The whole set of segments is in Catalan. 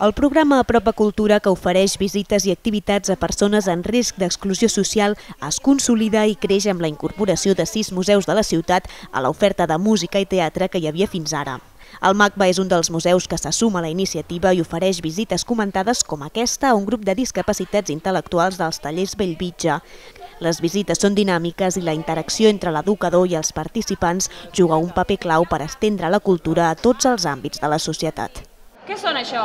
El programa Apropa Cultura, que ofereix visites i activitats a persones en risc d'exclusió social, es consolida i creix amb la incorporació de 6 museus de la ciutat a l'oferta de música i teatre que hi havia fins ara. El MACBA és un dels museus que se suma a la iniciativa i ofereix visites comentades com aquesta a un grup de discapacitats intel·lectuals dels tallers Bellvitge. Les visites són dinàmiques i la interacció entre l'educador i els participants juga un paper clau per estendre la cultura a tots els àmbits de la societat. Què són això?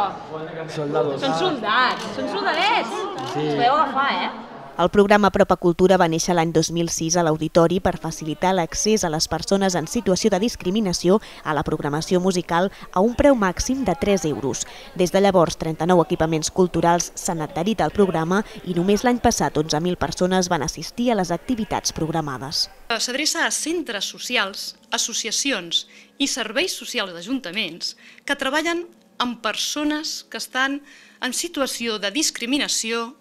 Soldados. Són soldats, són soldadets. Sí. Us podeu agafar, El programa Apropa Cultura va néixer l'any 2006 a l'Auditori per facilitar l'accés a les persones en situació de discriminació a la programació musical a un preu màxim de 3 euros. Des de llavors, 39 equipaments culturals s'han adherit al programa i només l'any passat 11.000 persones van assistir a les activitats programades. S'adreça a centres socials, associacions i serveis socials d'ajuntaments que treballen amb persones que estan en situació de discriminació,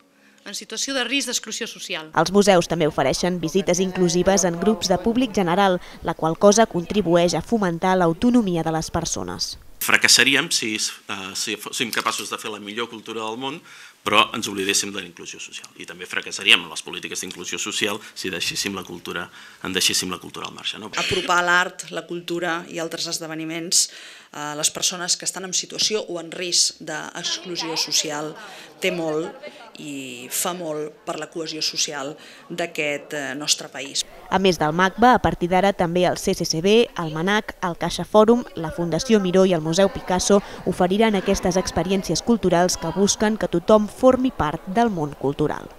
en situació de risc d'exclusió social. Els museus també ofereixen visites inclusives en grups de públic general, la qual cosa contribueix a fomentar l'autonomia de les persones. Fracassaríem si fóssim capaços de fer la millor cultura del món, però ens oblidéssim de la inclusió social. I també fracassaríem en les polítiques d'inclusió social si deixéssim la cultura al marge. Apropar l'art, la cultura i altres esdeveniments a les persones que estan en situació o en risc d'exclusió social té molt i fa molt per la cohesió social d'aquest nostre país. A més del MACBA, a partir d'ara també el CCCB, el MANAC, el Caixa Fòrum, la Fundació Miró i el Museu Picasso oferiran aquestes experiències culturals que busquen que tothom formi part del món cultural.